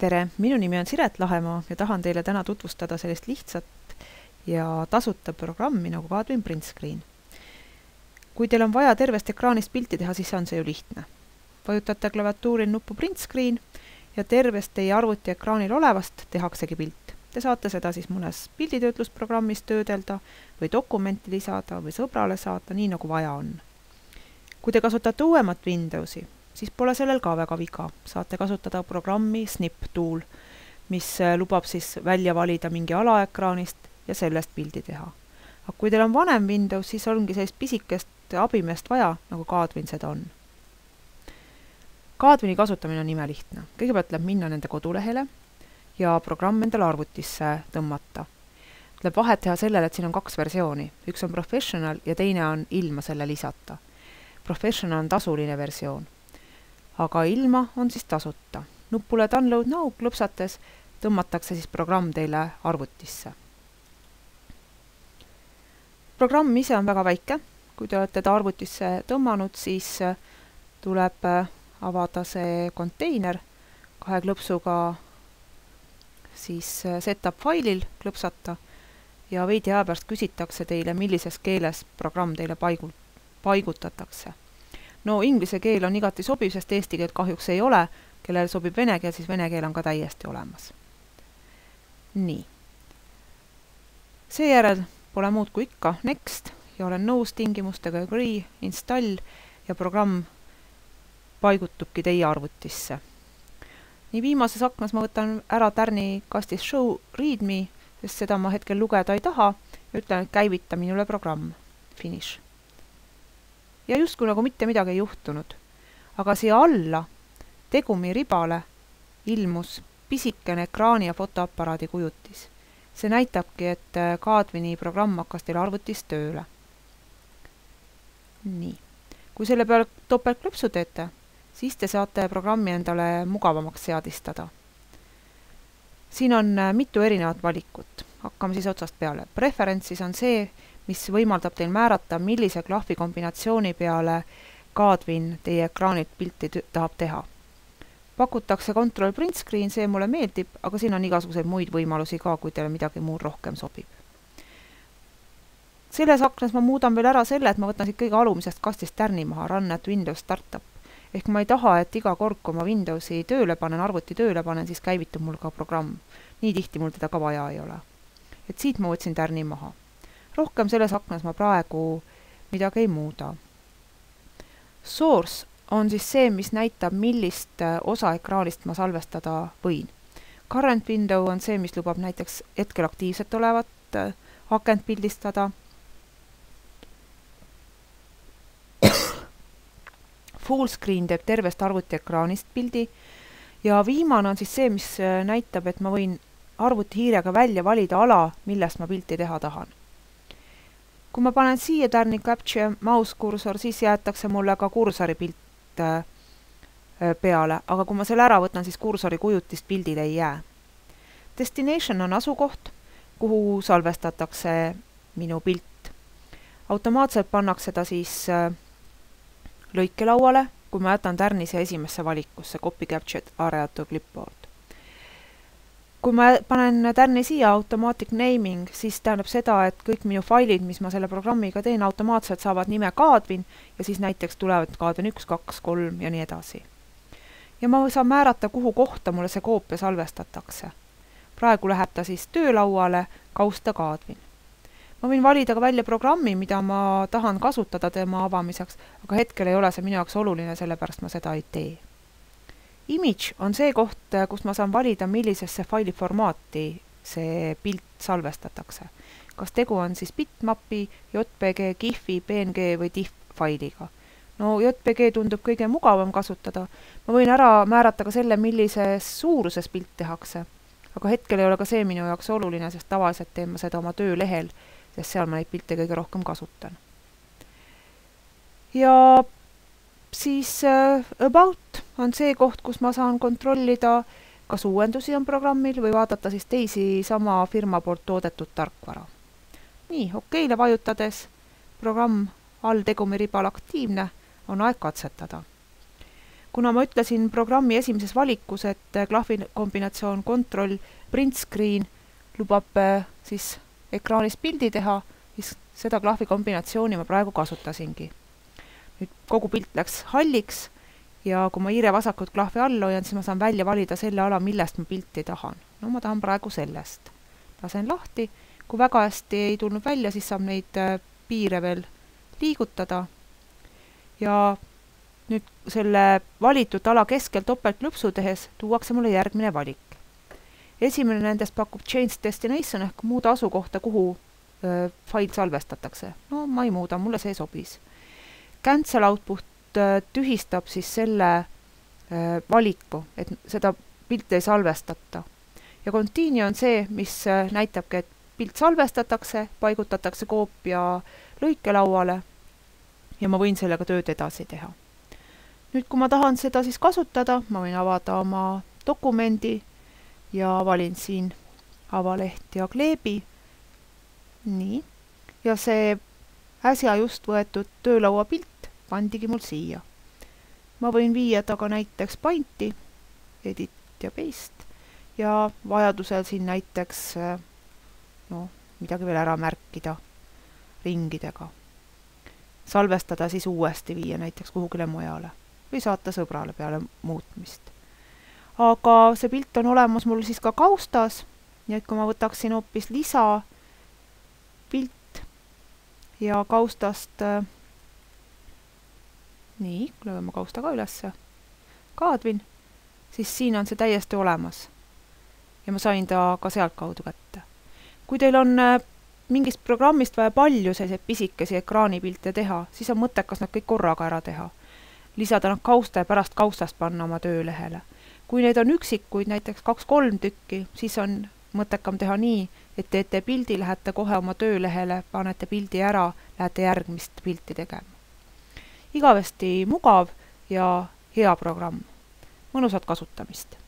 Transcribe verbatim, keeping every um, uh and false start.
tere, minu nimi on Siret Lahemaa ja tahan teile täna tutvustada sellist lihtsat ja tasuta programmi nagu Kadwin Print Screen. Kui teil on vaja tervest ekraanist pilti teha, siis on see ju lihtne. Vajutate klaviatuuril nuppu Print Screen ja tervest teie arvuti ekraanil olevast tehaksegi pilt. Te saate seda siis mõnes pilditöötlusprogrammis töödelda või dokumenti lisada või sõbrale saata, nii nagu vaja on. Kui te kasutate uuemat Windowsi, siis pole sellel ka väga viga. Saate kasutada programmi Snip Tool, mis lubab siis välja valida mingi alaekraanist ja sellest pildi teha. Aga kui teil on vanem Windows, siis ongi sellist pisikest abimeest vaja, nagu Kadwin seda on. Kadwini kasutamine on imelihtne. Kõigepealt läheb minna nende kodulehele ja programm endale arvutisse tõmmata. Tuleb vahet teha sellele, et siin on kaks versiooni. Üks on Professional ja teine on ilma selle lisata. Professional on tasuline versioon. Aga ilma on siis tasuta. Nupule Download Now klõpsates tõmmatakse siis programm teile arvutisse. Programm ise on väga väike. Kui te olete ta arvutisse tõmmanud, siis tuleb avada see konteiner kahe klõpsuga siis setup failil klõpsata ja veidi aja pärast küsitakse teile, millises keeles programm teile paigul, paigutatakse. No inglise keel on igati sobiv, sest eesti keelt kahjuks ei ole. Kellel sobib vene keel, siis vene keel on ka täiesti olemas. Nii. Seejärel pole muud kui ikka next ja olen nõus tingimustega agree, install ja programm paigutubki teie arvutisse. Nii viimases aknas ma võtan ära tärni kastis show readme, sest seda ma hetkel lugeda ei taha ja ütlen, et käivita minule programm. Finish. Ja justkui nagu mitte midagi ei juhtunud. Aga siia alla tegumi ribale ilmus pisikene ekraani ja fotoaparaadi kujutis. See näitabki, et Kadwini programm hakkas teil arvutis tööle. Nii. Kui selle peale topeltklõpsu teete, siis te saate programmi endale mugavamaks seadistada. Siin on mitu erinevat valikut. Hakkame siis otsast peale. Preferences on see, mis võimaldab teil määrata, millise klahvi kombinatsiooni peale Kadwin teie ekraanilt pilti tahab teha. Pakutakse Control Print Screen, see mulle meeldib, aga siin on igasuguseid muid võimalusi ka, kui teile midagi muud rohkem sobib. Selles aknas ma muudan veel ära selle, et ma võtan siit kõige alumisest kastist tärni maha, Run at Windows Startup. Ehk ma ei taha, et iga kord, kui ma Windowsi tööle panen, arvuti tööle panen, siis käivitub mul ka programm. Nii tihti mul teda ka vaja ei ole. Et siit ma võtsin tärni maha. Rohkem selles aknas ma praegu midagi ei muuda. Source on siis see, mis näitab, millist osa ekraanist ma salvestada võin. Current window on see, mis lubab näiteks hetkel aktiivset olevat akent pildistada. Full screen teeb tervest arvuti ekraanist pildi ja viimane on siis see, mis näitab, et ma võin arvuti hiirega välja valida ala, millest ma pilti teha tahan. Kui ma panen siia tärni Capture mouse kursor, siis jäetakse mulle ka kursori pilt peale, aga kui ma selle ära võtan, siis kursori kujutist pildil ei jää. Destination on asukoht, kuhu salvestatakse minu pilt. Automaatselt pannakse ta siis lõikelauale, kui ma jätan tärni siia esimesse valikusse, Copy Captured Area to Clipboard. Kui ma panen tärni siia Automatic Naming, siis tähendab seda, et kõik minu failid, mis ma selle programmiga teen, automaatselt saavad nime Kadwin ja siis näiteks tulevad Kadwin üks, kaks, kolm ja nii edasi. Ja ma saan määrata, kuhu kohta mulle see koopia salvestatakse. Praegu läheb ta siis töölauale kausta Kadwin. Ma võin valida ka välja programmi, mida ma tahan kasutada tema avamiseks, aga hetkel ei ole see minu jaoks oluline, sellepärast ma seda ei tee. Image on see koht, kus ma saan valida, millisesse faili formaati see pilt salvestatakse. Kas tegu on siis bitmapi, J P G, GIF-i, P N G või TIFF failiga. No J P G tundub kõige mugavam kasutada. Ma võin ära määrata ka selle, millises suuruses pilt tehakse. Aga hetkel ei ole ka see minu jaoks oluline, sest tavaliselt teen ma seda oma töölehel, sest seal ma neid pilte kõige rohkem kasutan. Ja siis äh, About on see koht, kus ma saan kontrollida, kas uuendusi on programmil või vaadata siis teisi sama firma poolt toodetud tarkvara. Nii, okeile vajutades, programm all tegumi ribal aktiivne, on aeg katsetada. kuna ma ütlesin programmi esimeses valikus, et klahvi kombinatsioon Control Print Screen lubab siis ekraanis pildi teha, siis seda klahvi kombinatsiooni ma praegu kasutasingi. Nüüd kogu pilt läks halliks ja kui ma hiire vasakut klahvi all hoian, siis ma saan välja valida selle ala, millest ma pilti tahan. No ma tahan praegu sellest. Lasen lahti. Kui väga hästi ei tulnud välja, siis saab neid piire veel liigutada. Ja nüüd selle valitud ala keskel topeltlõpsu tehes tuuakse mulle järgmine valik. Esimene nendest pakub Change Destination ehk muuda asukohta, kuhu öö, fail salvestatakse. No ma ei muuda, mulle see sobis. Cancel Output öö, tühistab siis selle öö, valiku, et seda pilti ei salvestata. Ja Continue on see, mis öö, näitabki, et pilt salvestatakse, paigutatakse koopia lõikelauale ja ma võin sellega tööd edasi teha. Nüüd, kui ma tahan seda siis kasutada, ma võin avada oma dokumendi ja valin siin avaleht ja kleebi. Nii. Ja see äsja just võetud töölaua pilt pandigi mul siia. Ma võin viia taga näiteks Painti, Edit ja Paste ja vajadusel siin näiteks no, midagi veel ära märkida ringidega. Salvestada siis uuesti viia näiteks kuhugile mujale või saata sõbrale peale muutmist. Aga see pilt on olemas mul siis ka kaustas, nii et kui ma võtaksin hoopis lisa pilt ja kaustast nii, lööme kausta ka ülesse, kaadvin, siis siin on see täiesti olemas ja ma sain ta ka sealt kaudu kätte. Kui teil on mingist programmist vaja palju selliseid pisikesi ekraanipilte teha, siis on mõttekas nad kõik korraga ära teha. Lisada nad kausta ja pärast kaustast panna oma töölehele. Kui need on üksikuid, näiteks kaks-kolm tükki, siis on mõttekam teha nii, et teete pildi, lähete kohe oma töölehele, panete pildi ära, lähete järgmist pilti tegema. Igavesti mugav ja hea programm. Mõnusat kasutamist!